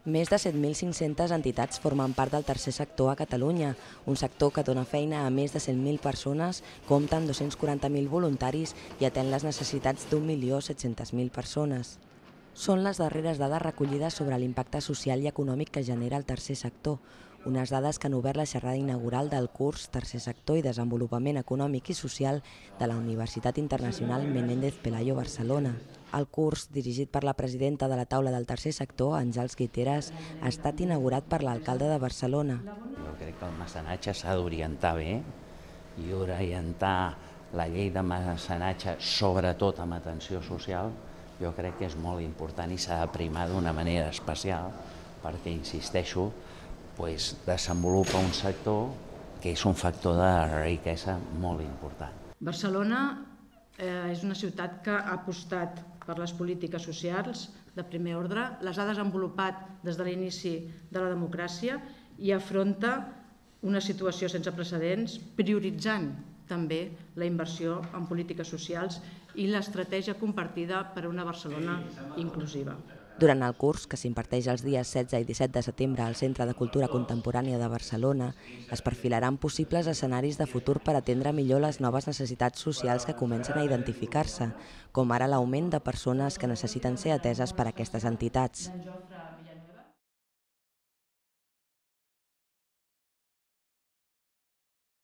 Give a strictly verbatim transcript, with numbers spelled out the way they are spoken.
Més de set mil cinc-centes entitats formen part del tercer sector a Catalunya, un sector que dona feina a més de cent mil persones, compta amb dos-cents quaranta mil voluntaris i atén les necessitats d'un milió set-centes mil persones. Són les darreres dades recollides sobre l'impacte social i econòmic que genera el tercer sector, unes dades que han obert la xerrada inaugural del curs Tercer sector i desenvolupament econòmic i social de la Universitat Internacional Menéndez Pelayo Barcelona. El curs, dirigit per la presidenta de la taula del tercer sector, Àngels Guiteras, ha estat inaugurat per l'alcalde de Barcelona. Jo crec que el mecenatge s'ha d'orientar bé i orientar la llei de mecenatge, sobretot amb atenció social, jo crec que és molt important i s'ha de primar d'una manera especial perquè, insisteixo, pues, desenvolupa un sector que és un factor de riquesa molt important. Barcelona eh, és una ciutat que ha apostat per les polítiques socials de primer ordre, les ha desenvolupat des de l'inici de la democràcia i afronta una situació sense precedents, prioritzant també la inversió en polítiques socials i l'estratègia compartida per a una Barcelona inclusiva. Durant el curs, que s'imparteix els dies setze i disset de setembre al Centre de Cultura Contemporània de Barcelona, es perfilaran possibles escenaris de futur per atendre millor les noves necessitats socials que comencen a identificar-se, com ara l'augment de persones que necessiten ser ateses per aquestes entitats.